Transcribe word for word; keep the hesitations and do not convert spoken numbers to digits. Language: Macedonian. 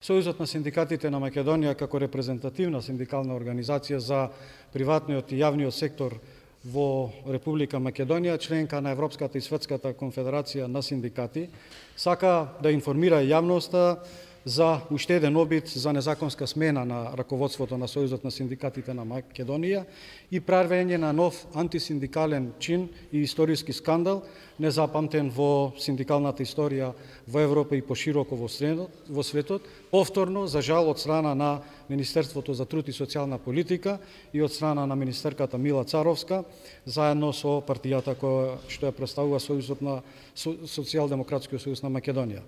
Сојузот на синдикатите на Македонија како репрезентативна синдикална организација за приватниот и јавниот сектор во Република Македонија, членка на Европската и Светската конфедерација на синдикати, сака да информира јавноста за уште еден обид за незаконска смена на раководството на Сојузот на синдикатите на Македонија и правење на нов антисиндикален чин и историски скандал, незапамтен во синдикалната историја во Европа и пошироко во светот, повторно, за жал, од страна на Министерството за труд и социјална политика и од страна на министерката Мила Царовска, заедно со партијата која што ја представува Сојузот на Социјалдемократскиот сојуз на Македонија.